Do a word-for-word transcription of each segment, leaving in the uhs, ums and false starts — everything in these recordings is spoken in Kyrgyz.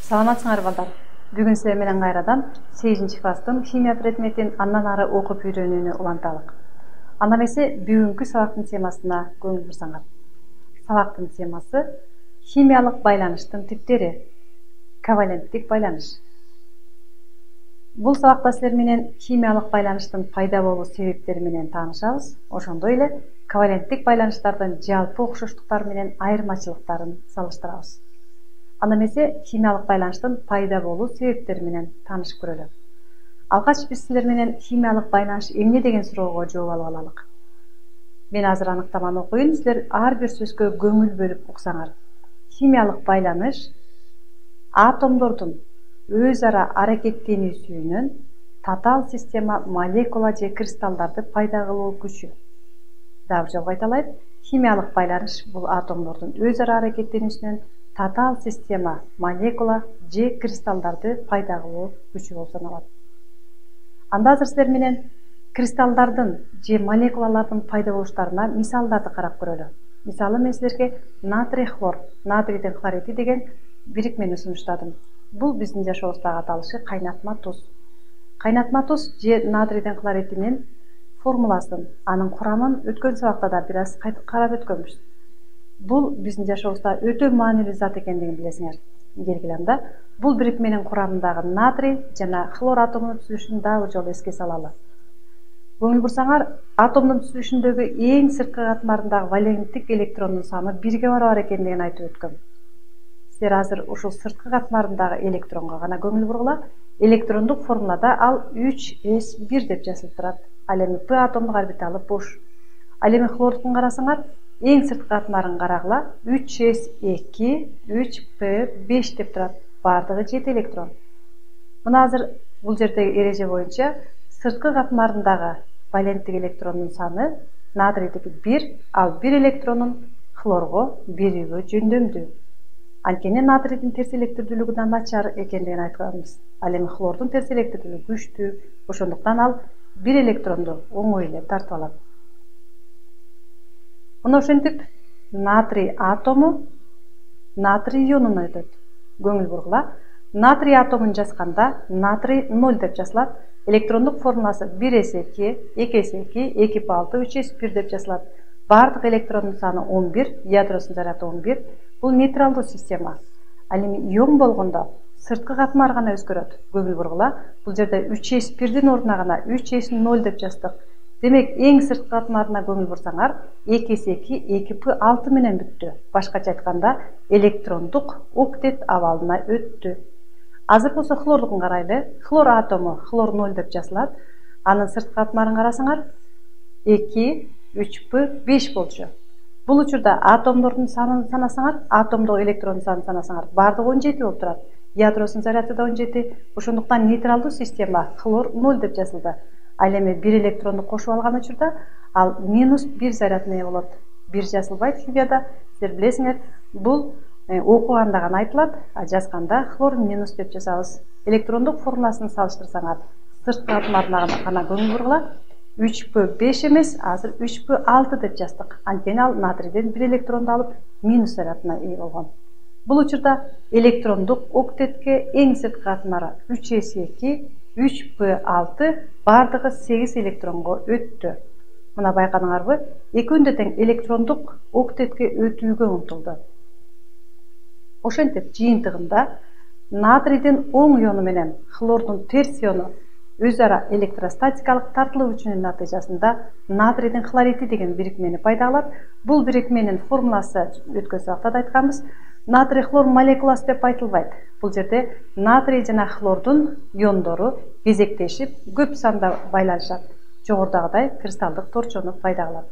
Саламатсыңар балдар. Бүгүн силер менен кайрадан сегизинчи класстын химия предметин андан ары окуп үйрөнүүнү уланталык. Анда эмесе бүгүнкү сабактын темасына көңүл бурсаңар. Сабактын темасы химиялык байланыштын типтери, коваленттик байланыш. Бул сабакта силер менен химиялык байланыштын пайда болуу себептери менен таанышабыз, ошондой эле коваленттик байланыштардын жалпы окшоштуктары менен айырмачылыктарын салыштырабыз. Анда эмесе химиялык байланыштын пайда болуу себептери менен таанышып көрөлү. Алгач биз силер менен химиялык байланыш эмне деген суроого жооп алып алалык. Мен азыр аныктаманы окуйн, силер ар бир сөзгө көңүл бөлүп уксаңар. Химиялык байланыш атомдордун өз ара аракеттенүүсүнөн татаал система, молекула же кристаллдарды пайда кылуу күчү. Дагы жолго айталайын. Химиялык байланыш бул атомдордун өз ара аракеттенүүсүнөн татаал система, молекула же кристаллдарды пайда кылуу күчү болуп саналат. Анда азыр силер менен кристаллдардын же молекулалардын пайда болуштарына мисалдарды карап көрөлү. Мисалы мен силерге натрий хлор, натрийдин хлориди деген бирикмени сунуштадым. Бул биздин жашообуздагы аталышы кайнатма туз. Кайнатма туз же натрийдин хлоридинин формуласын, анын курамын өткөн сабакта да бир аз карап өткөнбүз. Бул биздин жашообузда өтө маанилүү зат экендигин билесиңер. Келгиле анда бул бирикменин курамындагы натрий жана хлор атомунун түзүлүшүн дагы жолу эске салалы. Көңүл бурсаңар, атомдун түзүлүшүндөгү эң сырткы катмарындагы валенттик электрондун саны бирге барабар экендигин айтып өткөм. Силер азыр ушул сырткы катмарындагы электронго гана көңүл бургула. Электрондук формулада ал үч эс бир деп жазылып турат. Ал эми П атомдук орбиталы бош. Ал эми хлордукун карасаңар, эң сырткы катмарын карагыла, үч эс эки, үч П беш деп турат. Бардыгы жети электрон. Мына азыр бул жердеги эреже боюнча сырткы катмарындагы валенттик электрондун саны натрийдики бир, ал бир электронун хлорго берүүгө жөндөмдүү. Анткени натрийдин терс электрлүүлүгү да начар экендигин айтканбыз. Ал эми хлордун терс электрлүүлүгү күчтүү, ошондуктан ал бир электронду оңой эле тартып алат. Мына ошентип натрий атому натрий ионуна өтөт. Көңүл бургула. Натрий атомун жазганда натрий ноль деп жазылат. Электрондук формуласы бир эс эки, эки эс эки, эки П алты, үч эс бир деп жазылат. Бардык электрондун саны он бир, ядросунун заряды он бир. Бул нейтралдуу система. Ал эми ион болгондо сырткы катмар гана өзгөрөт. Көңүл бургула. Бул жерде үч эс бирдин ордуна гана үч эс ноль деп жаздык. Демек, эң сырткы катмарына көңүл бурсаңар, эки эс эки, эки П алты менен бүттү. Башкача айтканда, электрондук октет абалына өттү. Азыр болсо хлордукун карайлы. Хлор атому хлор ноль деп жазылат. Анын сырткы катмарын карасаңар, эки, үч П беш болчу. Бул учурда атомдордун санын санасаңар, атомдогу электрондун санын санасаңар, бардыгы он жети болуп турат. Ядросунун заряды да он жети. Ошондуктан нейтралдуу система хлор ноль деп жазылды. Ал эми бир электронду кошуп алган учурда ал минус бир зарядына ээ болот. Бир жазылбайт химияда, силер билесиңер, бул окуганда гана айтылат, а жазганда хлор минус деп жазабыз. Электрондук формуласын салыштырсаңар, сырткы катмарына гана көңүл бургула. үч П беш эмес, азыр үч П алты деп жаздык. Анткени ал натрийден бир электронду алып минус зарядына ээ болгон. Бул учурда электрондук октетке эң сырткы катмары үч эс эки, үч П алты, бардыгы сегиз электронго өттү. Мына байкадыңарбы? Экөөндө тең электрондук октетке өтүүгө умтулду. Ошентип жыйынтыгында натрийдин оң иону менен хлордун терс иону өз ара электростатикалык тартылуу күчүнүн натыйжасында натрийдин хлориди деген бирикмени пайда кылат. Бул бирикменин формуласы өткөн сабакта да айтканбыз. Натрий хлор молекуласы деп айтылбайт. Бул жерде натрий жана хлордун иондору кезектешип көп санда байланышат. Жогорудагыдай кристалдык торчону пайда кылат.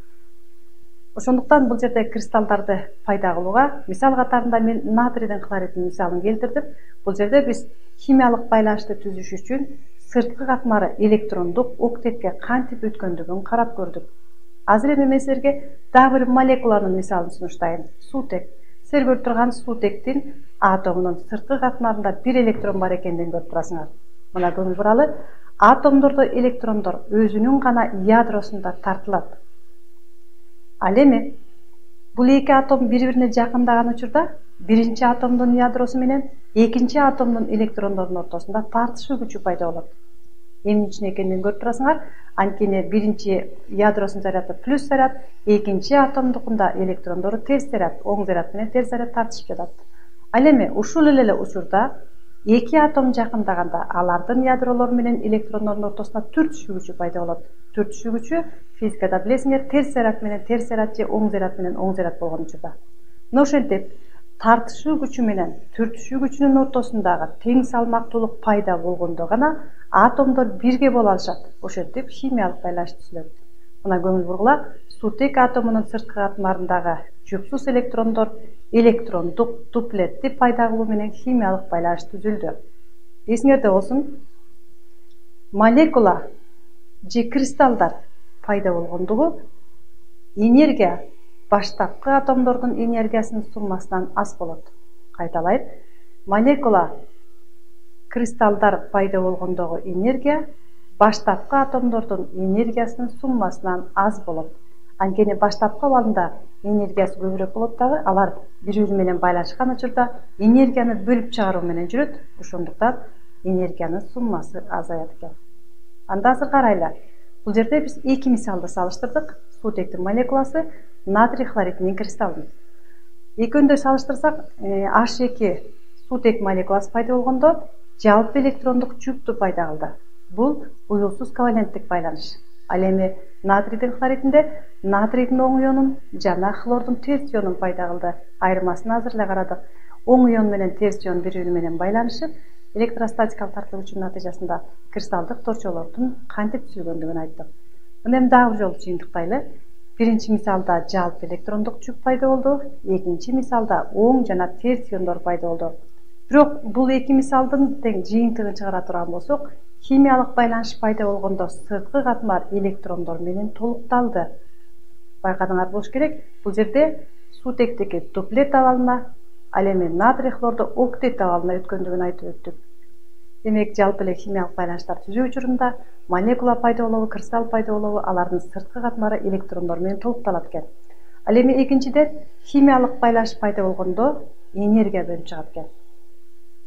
Ошондуктан бул жерде кристаллдарды пайда кылууга мисал катарында мен натрийдин хлоридинин мисалын келтирдим. Бул жерде биз химиялык байланышты түзүш үчүн сырткы катмары электрондук октетке кантип өткөндүгүн карап көрдүк. Азыр эми мен силерге дагы бир молекуланын мисалын сунуштайын. Суутек. Силер көрүп турган суутектин атомунун сырткы катмарында бир электрон бар экендигин көрүп турасыңар. Мына көңүл буралы. Атомдордо электрондор өзүнүн гана ядросунда тартылат. Ал эми бул эки атом бири-бирине жакындаган учурда биринчи атомдун ядросу менен экинчи атомдун электрондорунун ортосунда тартышуу күчү пайда болот. Эмне үчүн экенин көрүп турасыңар. Анткени биринчи ядросунун заряды плюс заряд, экинчи атомдукунда электрондору терс заряд, оң заряд менен терс заряд тартышып жатат. Ал эми ушул эле учурда эки атом жакындаганда алардын ядролору менен электрондордун ортосунда түртүшүү күчү пайда болот. Түртүшүү күчү физикада билесиңер, терс заряд менен терс заряд же оң заряд менен оң заряд болгон учурда. Мына ошентип тартышуу күчү менен түртүшүү күчүнүн ортосундагы тең салмактуулук пайда болгондо гана атомдор бирге боло алышат. Ошентип химиялык байланыш түзүлөт. Мына көңүл бургула, сутек атомунун сырткы катмарындагы жуксуз электрондор электрондук дуплетти пайда кылуу менен химиялык байланыш түзүлдү. Эсиңерде болсун, молекула же кристаллдар пайда болгондугу энергия баштапкы атомдордун энергиясынын суммасынан аз болот. Кайталайт, молекула кристаллдар пайда болгондогу энергия баштапкы атомдордун энергиясынын суммасынан аз болот. Анткени баштапкы абалында энергиясы көбүрөөк болот дагы, алар бири-бири менен байланышкан учурда энергияны бөлүп чыгаруу менен жүрөт. Ошондуктан энергиянын суммасы азаят экен. Анда азыр карайлы. Бул жерде биз эки мисалды салыштырдык. Сутектин молекуласы, натрий хлоридинин кристаллын. Экөөндө салыштырсак, H эки сутек молекуласы пайда болгондо жалпы электрондук жүктү пайда кылды. Бул уюлсуз коваленттик байланыш. Ал эми натрийдин хлоридинде натрийдин оң ионун жана хлордун терс ионун пайда кылды. Айырмасын азыр эле карадык. Оң ион менен терс ион бири-бири менен байланышып, электростатикалык тартылуу күчүнүн натыйжасында кристалдык торчолордун кантип түзүлгөндүгүн айттык. Мына эми дагы бир жолу жыйынтыктайлы. Биринчи мисалда жалпы электрондук жүк пайда болду, экинчи мисалда оң жана терс иондор пайда болду. Бирок бул эки мисалдын тең жыйынтыгын чыгара турган болсок, химиялык байланыш пайда болгондо сырткы катмар электрондор менен толукталды. Байкадыңар болуш керек, бул жерде сутектики дуплет абалына, ал эми натрий хлорду октет абалына өткөндүгүн айтып өттүк. Демек, жалпы эле химиялык байланыштар түзүү учурунда молекула пайда болобу, кристалл пайда болобу, алардын сырткы катмары электрондор менен толукталат экен. Ал эми экинчиден химиялык байланыш пайда болгондо энергия бөлүнүп чыгат экен.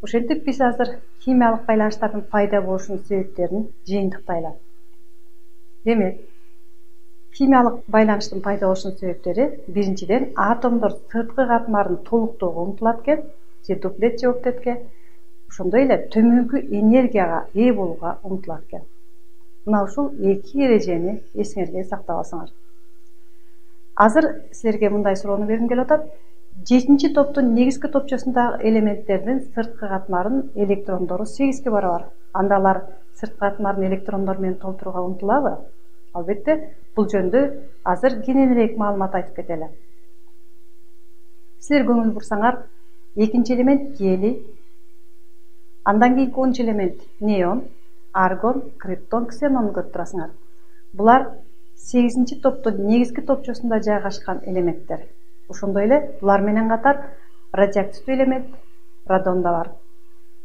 Ошентип биз азыр химиялык байланыштардын пайда болушунун себептерин жыйынтыктайлы. Демек, химиялык байланыштын пайда болушунун себептери биринчиден атомдор сырткы катмарын толуктоого умтулат экен, же дуплет же октетке. Ошондой эле төмөнкү энергияга ээ болууга умтулат экен. Мына ушул эки эрежени эсиңерге сактап алсаңар. Азыр силерге мындай суроону бергим келип атат. Жетинчи топтун негизги топчосундагы элементтердин сырткы катмарынын электрондору сегизге барабар. Анда алар сырткы катмарын электрондор менен толтурууга умтулабы? Албетте, бул жөнүндө азыр кененирээк маалымат айтып кетели. Силер көңүл бурсаңар, экинчи элемент гелий, андан кийинки онунчу элемент неон, аргон, криптон, ксенонду көрүп турасыңар. Булар сегизинчи топтун негизги топчосунда жайгашкан элементтер. Ошондой эле булар менен катар радиоактивдүү элемент радон да бар.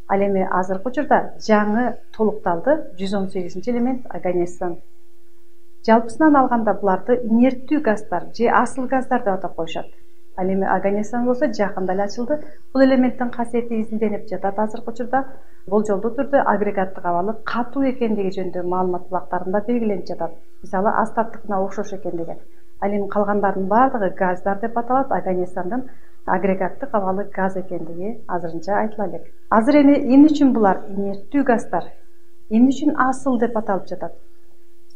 Ал эми азыркы учурда жаңы толукталды жүз он сегизинчи элемент аганесон. Жалпысынан алганда буларды инерттүү газдар же асыл газдар деп атап коюшат. Ал эми аганесон болсо жакында эле ачылды. Бул элементтин касиети изилденип жатат азыркы учурда. Болжолдуу түрдө агрегаттык абалы катуу экендиги жөнүндө маалымат булактарында белгиленип жатат. Мисалы, астаттыкына окшош экендиги. Ал эми калгандардын баардыгы газдар деп аталат. Аганесондун агрегаттык абалы газ экендиги азырынча айтыла элек. Азыр эми эмне үчүн булар инерттүү газдар, эмне үчүн асыл деп аталып жатат?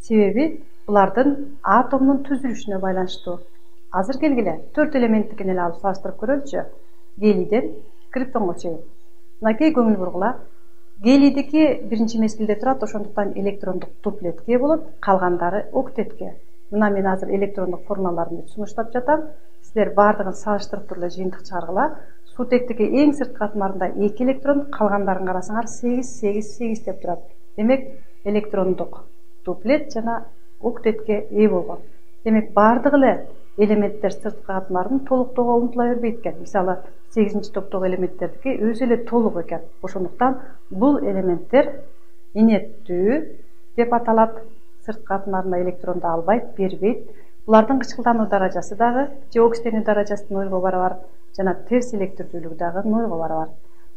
Себеби булардын атомдун түзүлүшүнө байланыштуу. Азыр келгиле төрт элементтикин эле алып салыштырып көрөлүчү. Гелийден криптонго чейин. Мынакей көңүл бургула. Гелийдики биринчи мезгилде турат, ошондуктан электрондук дуплетке болот, калгандары октетке. Мына мен азыр электрондук формулаларын сунуштап жатам. Силер баардыгын салыштырып туруп эле жыйынтык чыгаргыла. Сутектики эң сырткы катмарында эки электрон, калгандарын карасаңар сегиз, сегиз, сегиз деп турат. Демек, электрондук дуплет жана октетке ээ болгон. Демек, баардык эле элементтер сырткы катмарын толуктоого умтула бербейт экен. Мисалы, сегизинчи топтогу элементтердики өзү эле толук экен. Ошондуктан бул элементтер инерттүү деп аталат. Сырткы катмарында электронду албайт, бербейт. Булардын кычкылдануу даражасы дагы же оксиденүү даражасы нолго барабар. жана терс электрлүүлүгү дагы нольго барабар.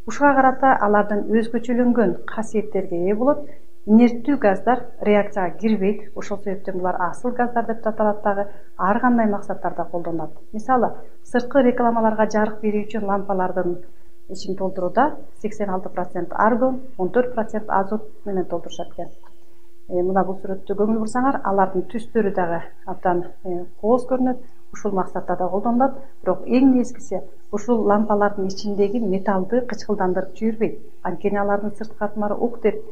Ушуга карата алардын өзгөчөлөнгөн касиеттерге ээ болот. Инерттүү газдар реакцияга кирбейт. Ошол себептен булар асыл газдар деп аталат дагы, ар кандай максаттарда колдонулат. Мисалы, сырткы рекламаларга жарык берүү үчүн лампалардын ичин толтурууда сексен алты процент аргон, он төрт процент азот менен толтурушат экен. Мына бул сүрөттү көңүл бурсаңар, алардын түстөрү дагы абдан кооз көрүнөт. Ушул максатта да колдонулат. Бирок эң нечкиси ушул лампалардын ичиндеги металлды кычкылдандырып жибербейт. Анткени алардын сырткы катмары октет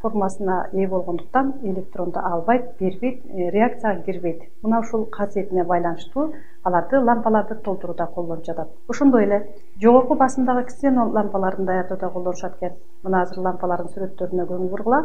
формасына ээ болгондуктан электронду албайт, бербейт, реакцияга кирбейт. Мына ушул касиетине байланыштуу аларды лампаларды толтурууда колдонуп жатат. Ошондой эле жогорку басымдагы ксенон лампаларын даярдоодо колдонушат экен. Мына азыр лампалардын сүрөттөрүнө көңүл бургула.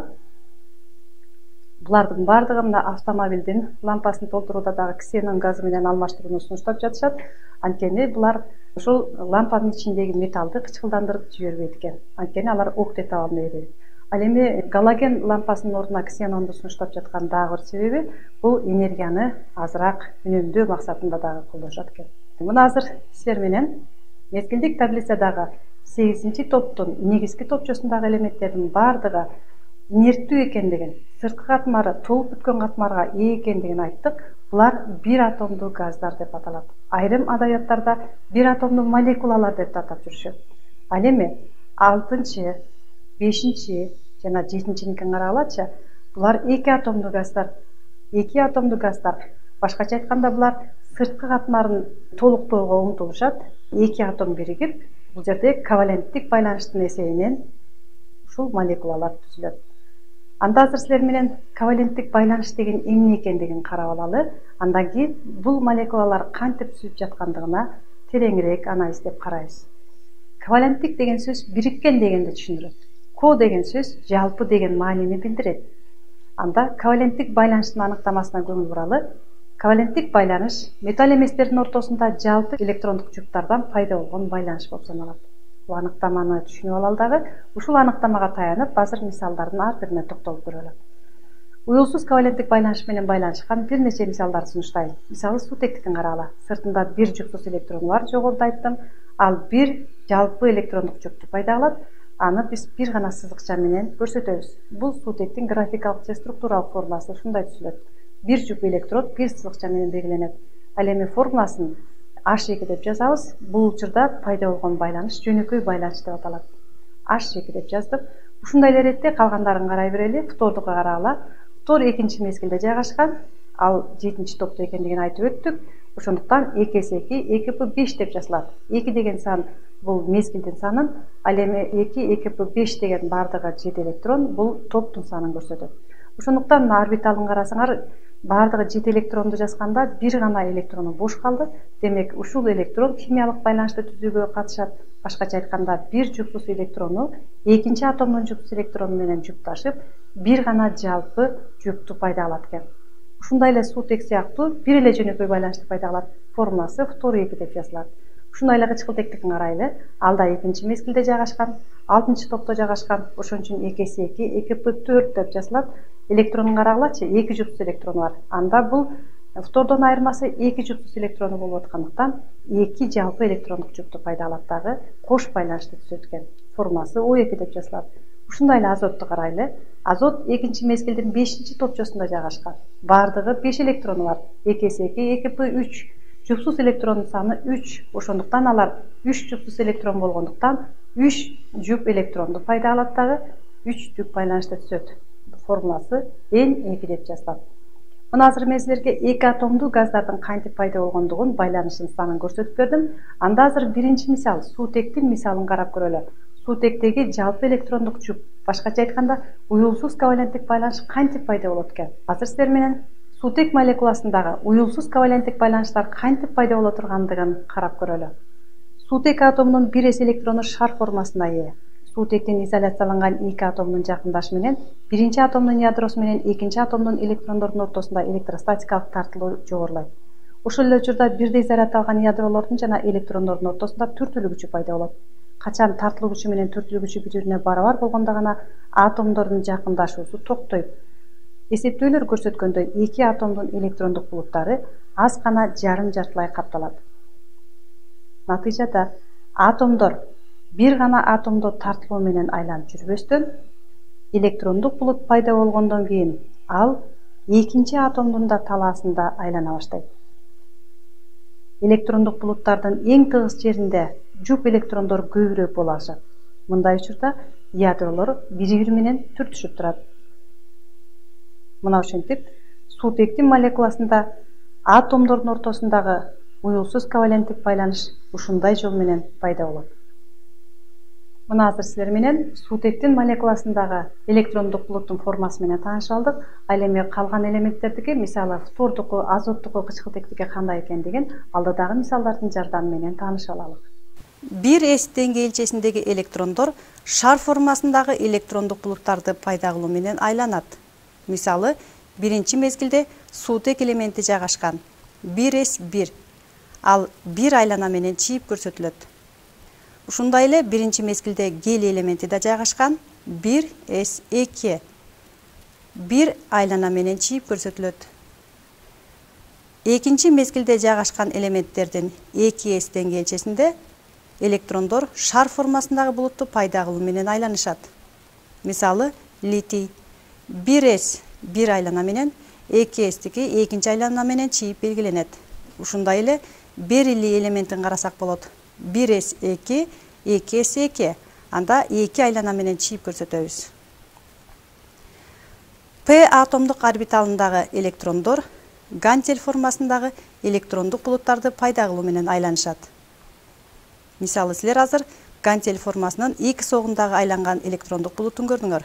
Булардын бардыгы мына автомобилдин лампасын толтурууда дагы ксенон газы менен алмаштырууну сунуштап жатышат. Анткени булар ушул лампанын ичиндеги металлды кычкылдандырып жибербейт экен. Анткени алар октет абалына ээ. Ал эми галоген лампасынын ордуна ксенонду сунуштап жаткан дагы бир себеби бул энергияны азыраак үнөмдөө максатында дагы колдонушат экен. Мына азыр силер менен мезгилдик таблицадагы сегизинчи топтун негизги топчосундагы элементтердин бардыгы инерттүү экендигин, сырткы катмары толуп бүткөн катмарга ээ экендигин айттык. Булар бир атомдуу газдар деп аталат. Айрым адабияттарда бир атомдуу молекулалар деп атап жүрүшөт. Ал эми алтынчы, бешинчи жана жетинчиникин карагалачы. Булар эки атомдуу газдар. Эки атомдуу газдар. Башкача айтканда булар сырткы катмарын толуктоого умтулушат. Эки атом биригип, бул жерде коваленттик байланыштын эсебинен ушул молекулалар түзүлөт. Анда азыр силер менен коваленттик байланыш деген эмне экендигин карап алалы. Андан кийин бул молекулалар кантип түзүлүп жаткандыгына тереңирээк анализдеп карайбыз. Коваленттик деген сөз бириккен дегенди түшүндүрөт. Ко деген сөз жалпы деген маанини билдирет. Анда коваленттик байланыштын аныктамасына көңүл буралы. Коваленттик байланыш металл эместердин ортосунда жалпы электрондук жуптардан пайда болгон байланыш болуп саналат. Бул аныктаманы түшүнүп алалы дагы. Ушул аныктамага таянып, азыр мисалдардын ар бирине токтолуп көрөлү. Уюлсуз коваленттик байланыш менен байланышкан бир нече мисалдарды сунуштайм. Мисалы, суутектикин карагыла. Сыртында бир жупсуз электрону бар, жогоруда айттым. Ал бир жалпы электрондук жупту пайда кылат. Аны биз бир гана сызыкча менен көрсөтөбүз. Бул суутектин графикалык же структуралык формуласы ушундай түзүлөт. Бир жуп электрод бир сызыкча менен белгиленет. Ал эми формуласын H эки деп жазабыз. Бул учурда пайда болгон байланыш жөнөкөй байланыш деп аталат. H эки деп жаздык. Ушундай эле иретте калгандарын карай берели. Фтордука карагыла. Фтор экинчи мезгилде жайгашкан. Ал жетинчи топто экендигин айтып өттүк. Ошондуктан эки эсе эки, эки пэ беш деп жазылат. эки деген сан бул мезгилдин санын, ал эми эки, эки пэ беш деген бардыгы жети электрон, бул топтун санын көрсөтөт. Ошондуктан орбиталын карасаңар, бардыгы жети электронду жазганда бир гана электрону бош калды. Демек, ушул электрон химиялык байланышты түзүүгө катышат. Башкача айтканда, бир жупсуз электрону экинчи атомдун жупсуз электрону менен жупташып, бир гана жалпы жупту пайда кылат экен. Ушундай эле суутек сыяктуу бир эле жөнөкөй байланышты пайда кылат. Формуласы фтор эки деп жазылат. Ушундай эле кычкылтектикин карайлы. Ал да экинчи мезгилде жайгашкан, алтынчы топто жайгашкан. Ошон үчүн эки эсе эки, эки пэ төрт деп жазылат. Электронун карагылачы, эки жупсуз электрону бар. Анда бул фтордон айырмасы эки жупсуз электрону болуп аткандыктан эки жалпы электрондук жупту пайда кылат дагы кош байланышты түзөт экен. Формуласы о эки деп жазылат. Ушундай эле азотту карайлы. Азот экинчи мезгилдин бешинчи топчосунда жайгашкан. Бардыгы беш электрону бар. эки эсе эки, эки пэ үч. Жупсуз электрондун саны үч. Ошондуктан алар үч жупсуз электрон болгондуктан үч жуп электронду пайда кылат дагы үч жуп байланышты түзөт. Формуласы эн эки деп жазылат. Мына азыр мен силерге эки атомдуу газдардын кантип пайда болгондугун, байланышын санын көрсөтүп бердим. Анда азыр биринчи мисал, суутектин мисалын карап көрөлү. Суутектеги жалпы электрондук жуп, башкача айтканда, уюлсуз коваленттик байланыш кантип пайда болот экен? Азыр силер менен суутек молекуласындагы уюлсуз коваленттик байланыштар кантип пайда боло тургандыгын карап көрөлү. Суутек атомунун бир эс электрону шар формасына ээ. Суутектин изоляцияланган эки атомдун жакындашы менен биринчи атомдун ядросу менен экинчи атомдун электрондордун ортосунда электростатикалык тартылуу жогорулайт. Ошол эле учурда бирдей зарядталган ядролордун жана электрондордун ортосунда түртүлүү күчү пайда болот. Качан тартылуу күчү менен түртүлүү күчү бири-бирине барабар болгондо гана атомдордун жакындашуусу токтойт. Эсептөөлөр көрсөткөндөй, эки атомдун электрондук булуттары аз гана жарым жартылай капталат. Натыйжада атомдор бир гана атомдо тартылуу менен айланып жүрбөстөн, электрондук булут пайда болгондон кийин ал экинчи атомдун да талаасында айлана баштайт. Электрондук булуттардын эң тыгыз жеринде жуп электрондор көбүрөөк боло алышат. Мындай учурда ядролор бири-бири менен түртүшүп турат. Мына ошентип, суутектин молекуласында атомдордун ортосундагы уюлсуз коваленттик байланыш ушундай жол менен пайда болот. Мына азыр силер менен суутектин молекуласындагы электрондук булуттун формасы менен таанышып алдык. Ал эми калган элементтердики, мисалы фтордуку, азоттуку, кычкылтектики кандай экендигин алдыдагы мисалдардын жардамы менен таанышып алалык. бир эс деңгээлчесиндеги электрондор шар формасындагы электрондук булуттарды пайда кылуу менен айланат. Мисалы, биринчи мезгилде суутек элементи жайгашкан бир эс бир, ал бир айлана менен чийип көрсөтүлөт. Ушундай эле биринчи мезгилде гелий элементи да жайгашкан бир эс эки, бир айлана менен чийип көрсөтүлөт. Экинчи мезгилде жайгашкан элементтердин эки эс деңгээлчесинде электрондор шар формасындагы булутту пайда кылуу менен айланышат. Мисалы, литий бир эс бир айлана менен, эки эстики экинчи айлана менен чийип белгиленет. Ушундай эле бериллий элементин карасак болот. бир эс эки, эки эс эки, анда эки айлана менен чийип көрсөтөбүз. П атомдук орбиталындагы электрондор гантель формасындагы электрондук булуттарды пайда кылуу менен айланышат. Мисалы, силер азыр гантель формасынын эки согундагы айланган электрондук булутун көрдүңөр.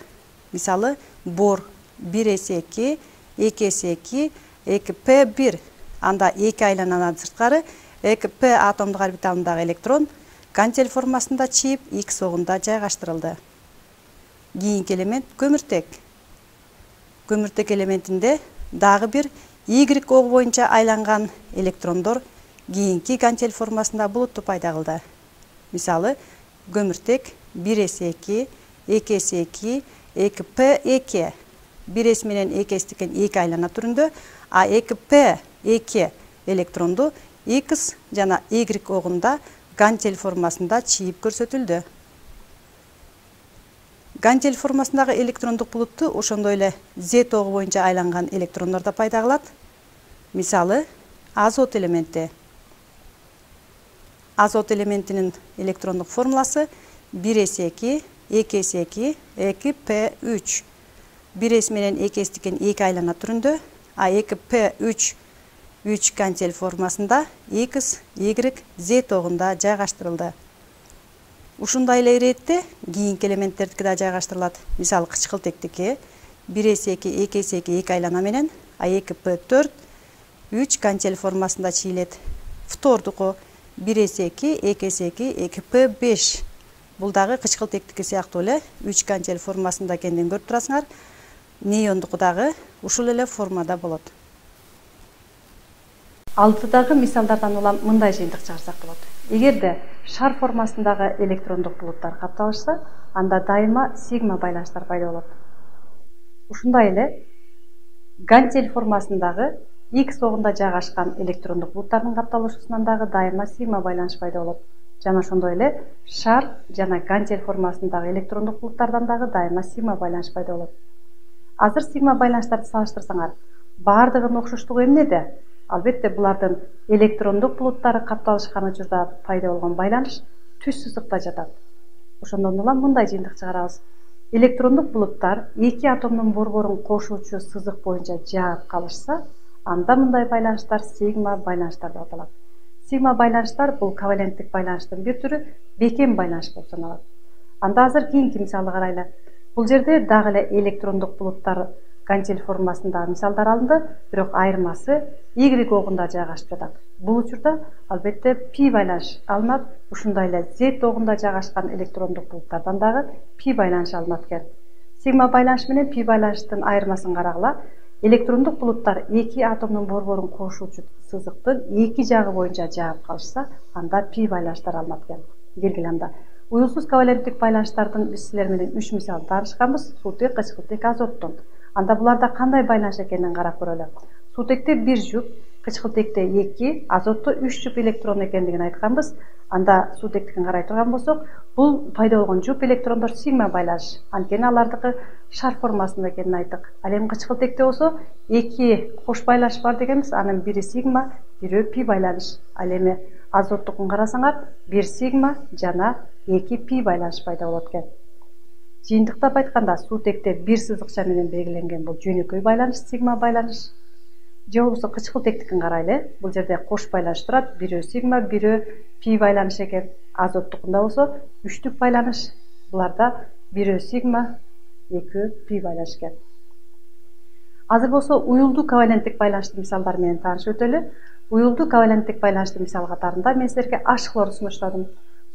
Мисалы, бор бир эс эки, эки эс эки, эки П бир, анда эки айлананан сырткары эки П атомдук орбиталындагы электрон гантель формасында чийип эки согунда жайгаштырылды. Кийинки элемент көмүртек. Көмүртек элементинде дагы бир Y ого боюнча айланган электрондор кийинки гантель формасында булутту пайда кылды. Мисалы, көмүртек бир эс эки, эки эс эки, эки П эки, бир эс менен эки эстикен эки айлана түрүндө, а эки П эки электронду X жана Y огунда гантель формасында чийип көрсөтүлдү. Гантель формасындагы электрондук булутту ошондой эле Z ого боюнча айланган электрондор да пайда кылат. Мисалы, азот элементи. Азот элементинин электрондук формуласы бир эс эки, эки эс эки, эки П үч. бир эс менен эки эстикен эки айлана түрүндө, а эки П үч үч гантель формасында X, Y, Z огунда жайгаштырылды. Ушундай эле иретте кийинки элементтердики да жайгаштырылат. Мисалы, кычкылтектики бир эс эки, эки эс эки эки айлана менен, а эки П төрт үч гантель формасында чийилет. Фтордуку бир эс эки, эки эс эки, эки П беш. Бул дагы кычкылтектики сыяктуу эле үч гантель формасында экендигин көрүп турасыңар. Неондуку дагы ушул эле формада болот. Алдыдагы мисалдардан улам мындай жыйынтык чыгарсак болот. Эгерде шар формасындагы электрондук булуттар капталышса, анда дайыма сигма байланыштар пайда болот. Ушундай эле гантель формасындагы X огунда жайгашкан электрондук булуттардын капталышуусунан дагы дайыма сигма байланыш пайда болот. Жана ошондой эле шар жана гантель формасындагы электрондук булуттардан дагы дайыма сигма байланыш пайда болот. Азыр сигма байланыштарды салыштырсаңар, баардыгынын окшоштугу эмнеде? Албетте булардын электрондук булуттары капталышкан учурда пайда болгон байланыш түз сызыкта жатат. Ошондон улам мындай жыйынтык чыгарабыз. Электрондук булуттар эки атомдун борборун кошуучу сызык боюнча жаап калышса, анда мындай байланыштар сигма байланыштар деп аталат. Сигма байланыштар бул коваленттик байланыштын бир түрү, бекем байланыш болуп саналат. Анда азыр кийинки мисалды карайлы. Бул жерде дагы эле электрондук булуттар гантель формасындагы мисалдар алынды, бирок айырмасы Y огунда жайгашып жатат. Бул учурда албетте пи байланыш алынат. Ушундай эле Z огунда жайгашкан электрондук булуттардан дагы пи байланыш алынат экен. Сигма байланыш менен пи байланыштын айырмасын карагыла. Электрондук булуттар эки атомдун борборун кошуучу сызыктын эки жагы боюнча жаап калышса, анда пи байланыштар алынат экен. Келгиле анда. Уюлсуз коваленттик байланыштардын биз силер менен үч мисалын таанышканбыз. Суутек, кычкылтек, азоттун. Анда буларда кандай байланыш экенин карап көрөлү. Суутекте бир жуп кычкылтекте эки, азотто үч жуп электрон экендигин айтканбыз. Анда суутектикин карай турган болсок, бул пайда болгон жуп электрондор сигма байланыш. Анткени алардыкы шар формасында экенин айттык. Ал эми кычкылтекте болсо эки кош байланыш бар дегенбиз. Анын бири сигма, бирөө пи байланыш. Ал эми азоттукун карасаңар, бир сигма жана эки пи байланыш пайда болот экен. Жыйынтыктап айтканда, суутекте бир сызыкча менен белгиленген бул жөнөкөй байланыш, сигма байланыш. Же болбосо кычкылтектикин карайлы. Бул жерде кош байланыш турат, бирөө сигма, бирөө пи байланыш экен. Азоттукунда болсо үчтүк байланыш. Буларда бирөө сигма, экөө пи байланыш экен. Азыр болсо уюлдуу коваленттик байланыштын мисалдары менен таанышып өтөлү. Уюлдуу коваленттик байланыштын мисал катарында мен силерге H хлорду сунуштадым.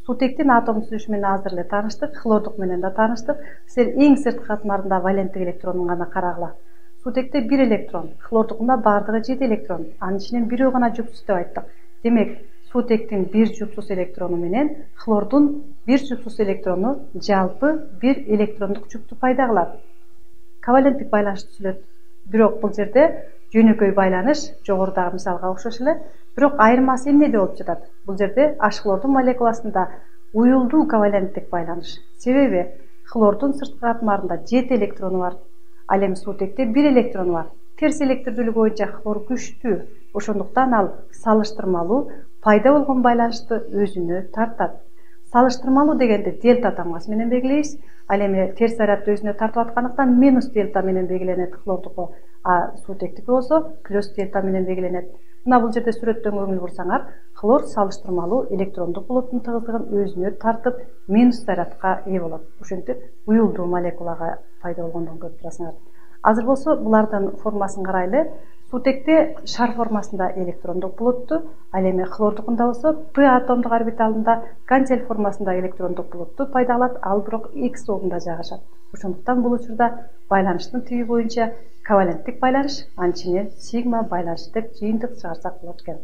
Суутектин атом түзүлүшү менен азыр эле тааныштык, хлордук менен да тааныштык. Силер эң сырткы катмарында валенттик электронун гана карагыла. Суутекте бир электрон, хлордукунда бардыгы жети электрон, анын ичинен бирөө гана жупсуз деп айттык. Демек, суутектин бир жупсуз электрону менен хлордун бир жупсуз электрону жалпы бир электрондук жупту пайда кылат. Коваленттик байланыш түзүлөт. Бирок бул жерде жөнөкөй байланыш жогорудагы мисалга окшош эле, бирок айырмасы эмнеде болуп жатат? Бул жерде H хлордун молекуласында уюлдуу коваленттик байланыш. Себеби хлордун сырткы катмарында жети электрону бар. Ал эми суутекте бир электрону бар. Терс электрлүүлүгү боюнча хлор күчтүү. Ошондуктан ал салыштырмалуу пайда болгон байланышты өзүнө тартат. Салыштырмалуу дегенди дельта тамгасы менен белгилейбиз. Ал эми терс зарядты өзүнө тартып аткандыктан минус дельта менен белгиленет хлордуку, а суутектики болсо плюс дельта менен белгиленет. Мына бул жерде сүрөттөн көңүл бурсаңар, хлор салыштырмалуу электрондук булуттун тыгыздыгын өзүнө тартып минус зарядка ээ болот. Ошентип уюлдуу молекулага пайда болгондугун көрүп турасыңар. Азыр болсо булардын формасын карайлы. Суутекте шар формасында электрондук булутту, ал эми хлордукунда болсо П атомдук орбиталында гантель формасында электрондук булутту пайда кылат, ал бирок X обунда жайгашат. Ошондуктан бул учурда байланыштын тиби боюнча коваленттик байланыш, анын ичинен сигма байланыш деп жыйынтык чыгарсак болот экен.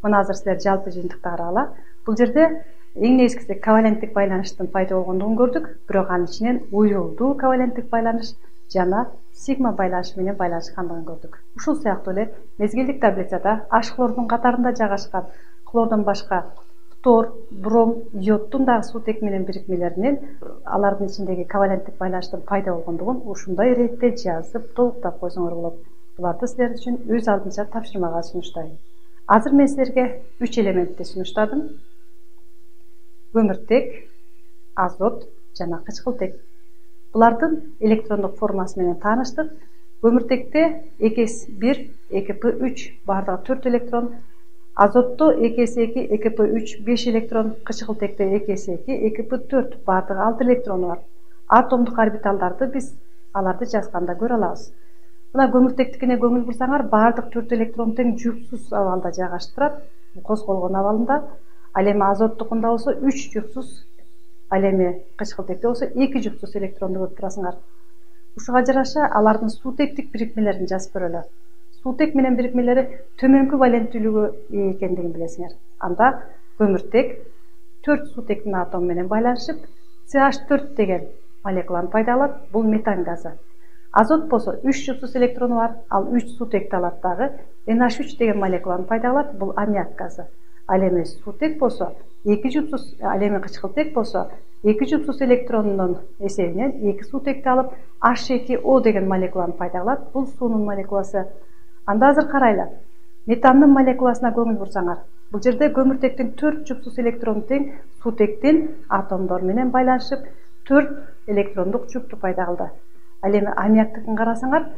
Мына азыр силер жалпы жыйынтыкты карагыла. Бул жерде эң негизгиси коваленттик байланыштын пайда болгондугун көрдүк, бирок анын ичинен уюлдуу коваленттик байланыш жана сигма байланышы менен байланышкандыгын көрдүк. Ушул сыяктуу эле мезгилдик таблицада H хлордун катарында жайгашкан хлордон башка фтор, бром, йоддун дагы суутек менен бирикмелеринен алардын ичиндеги коваленттик байланыштын пайда болгондугун ушундай иретте жазып толуктап койсоңор болот. Буларды силер үчүн өз алдынча тапшырмага сунуштайм. Азыр мен силерге үч элементти сунуштадым. Көмүртек, азот жана кычкылтек. Булардын электрондук формасы менен тааныштык. Көмүртекте эки эс бир, эки пэ үч бардыгы төрт электрон, азотто эки эс эки, эки пэ үч беш электрон, кычкылтекте эки эс эки, эки пэ төрт бардыгы алты электрону бар. Атомдук орбиталдарды биз аларды жазганда көрө алабыз. Мына көмүртектикине көңүл бурсаңар, бардык төрт электрон тең жупсуз абалда жайгашып турат, козголгон абалында. Ал эми азоттукунда болсо үч жупсуз, ал эми кычкылтекте болсо эки жупсуз электронду көрүп турасыңар. Ушуга жараша алардын суутектик бирикмелерин жазып көрөлү. Суутек менен бирикмелери төмөнкү валенттүүлүгү экендигин билесиңер. Анда көмүртек төрт суутектин атому менен байланышып, С H төрт деген молекуланы пайда алат. Бул метан газы. Азот болсо үч жупсуз электрону бар, ал үч суутекти алат дагы. Н H үч деген молекуланы пайда алат. Бул аммиак газы. Ал эми суутек болсо эки жупсуз, ал эми кычкылтек болсо эки жупсуз электронунун эсебинен эки суутекти алып H эки O деген молекуланы пайда кылат. Бул суунун молекуласы. Анда азыр карайлы. Метандын молекуласына көңүл бурсаңар, бул жерде көмүртектин төрт жупсуз электрону тең суутектин атомдору менен байланышып төрт электрондук жупту пайда кылды. Ал эми аммиактыкын карасаңар,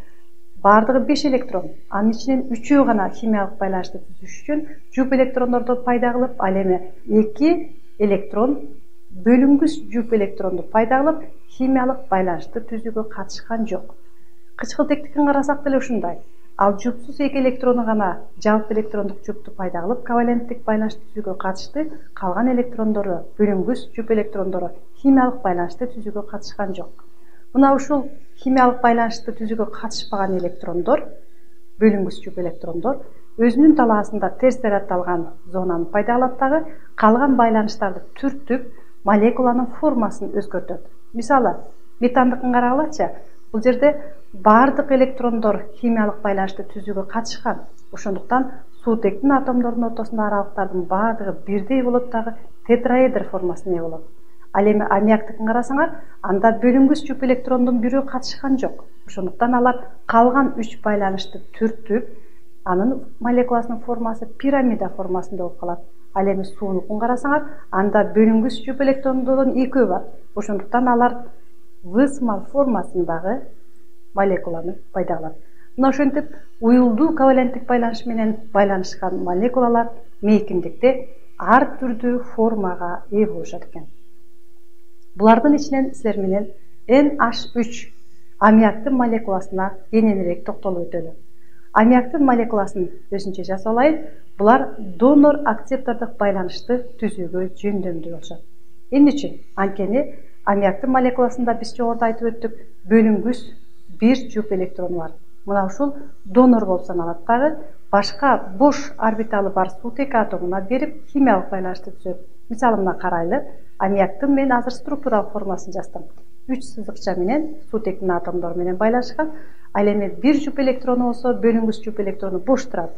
бардыгы беш электрон, анын ичинен үчөө гана химиялык байланышты түзүш үчүн жуп электрондорду пайда кылып, ал эми эки электрон бөлүнгүс жуп электронду пайда кылып, химиялык байланышты түзүүгө катышкан жок. Кычкылтектикин карасак деле ушундай. Ал жупсуз эки электрону гана жалпы электрондук жупту пайда кылып, коваленттик байланышты түзүүгө катышты, калган электрондору, бөлүнгүс жуп электрондору химиялык байланышты түзүүгө катышкан жок. Мына ушул химиялык байланышты түзүүгө катышпаган электрондор, бөлүнгүс жуп электрондор өзүнүн талаасында терс зарядталган зонаны пайда кылат дагы, калган байланыштарды түртүп, молекуланын формасын өзгөртөт. Мисалы, метандыкын карагылачы. Бул жерде бардык электрондор химиялык байланышты түзүүгө катышкан. Ошондуктан суутектин атомдорунун ортосундагы аралыктардын баардыгы бирдей болот дагы тетраэдр формасына ээ болот. Ал эми аммиактыкын карасаңар, анда бөлүнгүч жуп электрондун бирөө катышкан жок. Ошондуктан алар калган үч байланышты түртүп, анын молекуласынын формасы пирамида формасында болуп калат. Ал эми суунукун карасаңар, анда бөлүнгүч жуп электрондордун экөө бар. Ошондуктан алар высмал формасындагы молекуланы пайда кылат. Мына ошентип уюлдуу коваленттик байланыш менен байланышкан молекулалар мейкиндикте ар түрдүү формага ээ болушат экен. Булардын ичинен силер менен эн аш үч аммиактын молекуласына кененирээк токтолуп өтөлү. Аммиактын молекуласын өзүнчө жазып алайын. Булар донор акцептордук байланышты түзүүгө жөндөмдүү болушат. Эмне үчүн? Анткени аммиактын молекуласында биз жогоруда айтып өттүк, бөлүнгүч бир жуп электрон бар. Мына ушул донор болуп саналат дагы, башка бош орбиталы бар суутек атомуна берип химиялык байланышты түзөт. Мисалы мына карайлы, аммиактын мен азыр структуралык формасын жаздым. үч сызыкча менен суутектин атомдору менен байланышкан. Ал эми бир жуп электрону болсо, бөлүнгүч жуп электрону бош турат.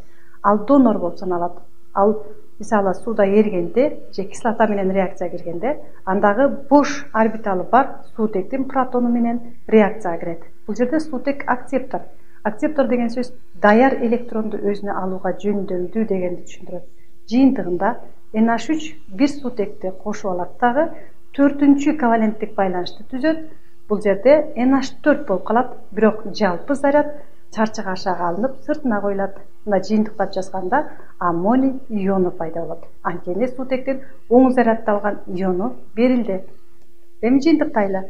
Ал донор болуп саналат. Ал мисалы сууда эригенде же кислота менен реакцияга киргенде, андагы бош орбиталы бар суутектин протону менен реакцияга кирет. Бул жерде суутек акцептор. Акцептор деген сөз даяр электронду өзүнө алууга жөндөмдүү дегенди түшүндүрөт. Жыйынтыгында эн аш үч бир суутекти кошуп алат дагы төртүнчү коваленттик байланышты түзөт. Бул жерде эн аш төрт болуп калат, бирок жалпы заряд чарчыга ашаага алынып сыртына коюлат. Мына жыйынтыктап жазганда аммоний иону пайда болот. Анткени суутектин оң заряддалган иону берилди. Эми жыйынтыктайлы.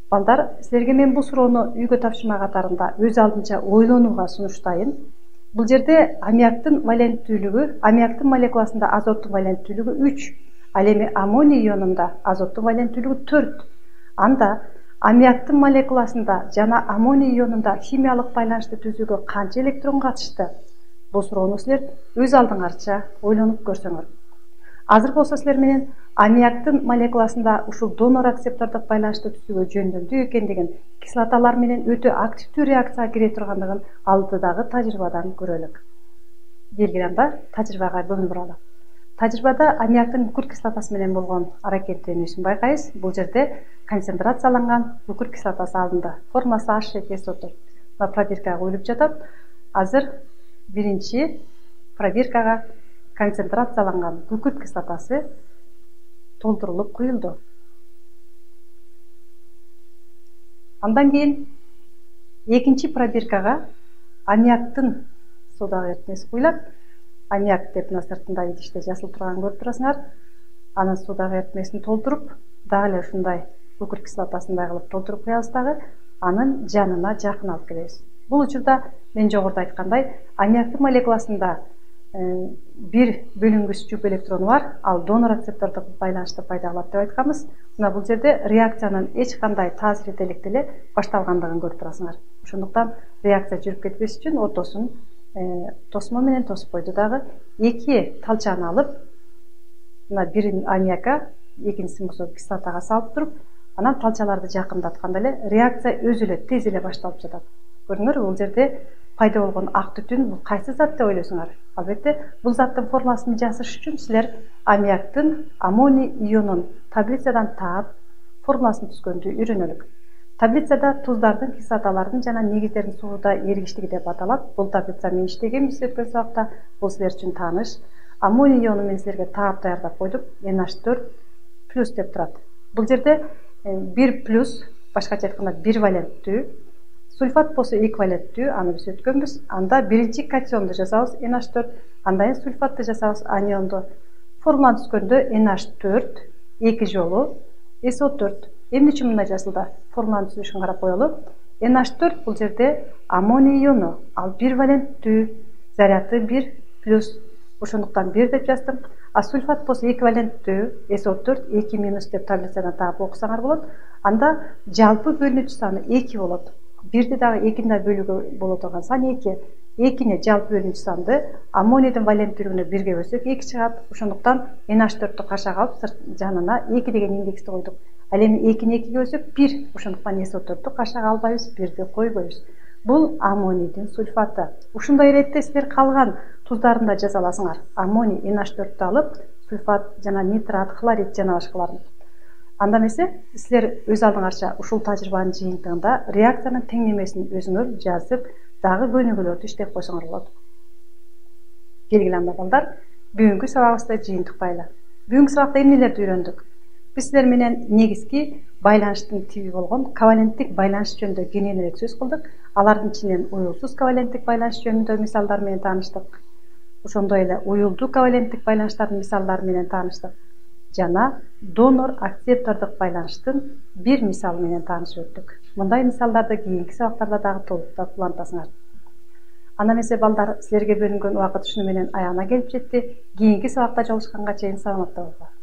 Балдар, силерге мен бул суроону үйгө тапшырма катарында өз алдынча ойлонууга сунуштайын. Бул жерде аммиактын валенттүүлүгү, аммиактын молекуласында азоттун валенттүүлүгү үч, ал эми аммоний ионунда азоттун валенттүүлүгү төрт. Анда аммиактын молекуласында жана аммоний ионунда химиялык байланышты түзүүгө канча электрон катышты? Бул суроону силер өз алдыңарча ойлонуп көрсөңөр. Азыр болсо силер менен аммиактын молекуласында ушул донор акцептордук байланышты түзүүгө жөндөмдүү экендигин, кислоталар менен өтө активдүү реакцияга кире тургандыгын алдыдагы тажрыйбадан көрөлүк. Келгиле анда тажрыйбага көңүл буралы. Тажрыйбада аммиактын күкүрт кислотасы менен болгон аракеттенүүсүн байкайбыз. Бул жерде концентрацияланган күкүрт кислотасы алынды. Формасы H эки эс о төрт. Мына пробиркага коюлуп жатат. Азыр биринчи пробиркага концентрацияланган күкүрт кислотасы толтурулуп куюлду. Андан кийин экинчи пробиркага аммиактын содага эритмеси куюлат. Аммиак деп мына сыртында идиште жазылып турганын көрүп турасыңар. Анын содага эритмесин толтуруп, дагы эле ушундай күкүрт кислотасындай кылып толтуруп куябыз дагы, анын жанына жакын алып келебиз. Бул учурда мен жогоруда айткандай, аммиактын молекуласында бир бөлүнгүч жуп электрону бар, ал донор акцептордук байланышты пайда кылат деп айтканбыз. Мына бул жерде реакциянын эч кандай таасир эте электе эле башталгандыгын көрүп турасыңар. Ошондуктан реакция жүрүп кетпеш үчүн ортосун тосмо менен тосуп койду дагы. Эки талчаны алып, мына бирин аммиакка, экинчисин болсо кислотага салып туруп, анан талчаларды жакындатканда эле реакция өзү эле тез эле башталып жатат. Көрдүңөр, бул жерде пайда болгон ак түтүн бул кайсы зат деп ойлойсуңар? Албетте, бул заттын формасын жазыш үчүн силер аммиактын аммоний ионун таблицадан таап, формуласын түзгөндү үйрөнөлүк. Таблицада туздардын, кислоталардын жана негиздердин сууда эригиштиги деп аталат. Бул таблица мен иштегенбиз өткөн сабакта, бул силер үчүн тааныш. Аммоний иону мен силерге таап даярдап койдук. эн аш төрт плюс деп турат. Бул жерде бир плюс, башкача айтканда бир валенттүү, сульфат болсо эки валенттүү, аны биз өткөнбүз. Анда биринчи катионду жазабыз эн аш төрт, андан кийин сульфатты жазабыз анионду. Формуланы түзгөндө эн аш төрт эки жолу эс о төрт. Эмне үчүн мындай жазылды? Формуланы түзүшүн карап коелу. эн аш төрт бул жерде аммоний иону, ал бир валенттүү, заряды бир плюс. Ошондуктан бир деп жаздым. А сульфат болсо эки валенттүү, эс о төрт эки минус деп таблицадан таап окусаңар болот. Анда жалпы бөлүнүүчү саны эки болот. Бирди дагы экини да бөлүүгө боло турган сан эки. экини жалпы бөлүнүүчү санды аммонийдин валенттүүлүгүнө бирге бөлсөк эки чыгат. Ошондуктан эн аш төрттү кашаага алып жанына эки деген индексти койдук. Ал эми экини экиге бөлсөк бир. Ошондуктан эс о төрттү кашаага албайбыз, бирди койбойбуз. Бул аммонийдин сульфаты. Ушундай иретте силер калган туздарын да жаза аласыңар. Аммоний эн эч төрттү алып, сульфат жана нитрат, хлорид жана башкаларын. Анда эмесе силер өз алдыңарча ушул тажрыйбанын жыйынтыгында реакциянын теңдемесин өзүңөр жазып, дагы көнүгүүлөрдү иштеп койсоңор болот. Келгиле анда балдар, бүгүнкү сабагыбызды жыйынтыктайлы. Бүгүнкү сабакта эмнелерди үйрөндүк? Биз силер менен негизги байланыштын тиби болгон коваленттик байланыш жөнүндө кененирээк сөз кылдык. Алардын ичинен уюлсуз коваленттик байланыш жөнүндө мисалдар менен тааныштык. Ошондой эле уюлдуу коваленттик байланыштардын мисалдары менен тааныштык. Жана донор-акцептордук байланыштын бир мисалы менен таанышып өттүк. Мындай мисалдарды кийинки сабактарда дагы толуктап улантасыңар. Анда эмесе балдар, силерге бөлүнгөн убакыт ушуну менен аягына келип жетти. Кийинки сабакта жолугушканга чейин саламатта болуңар.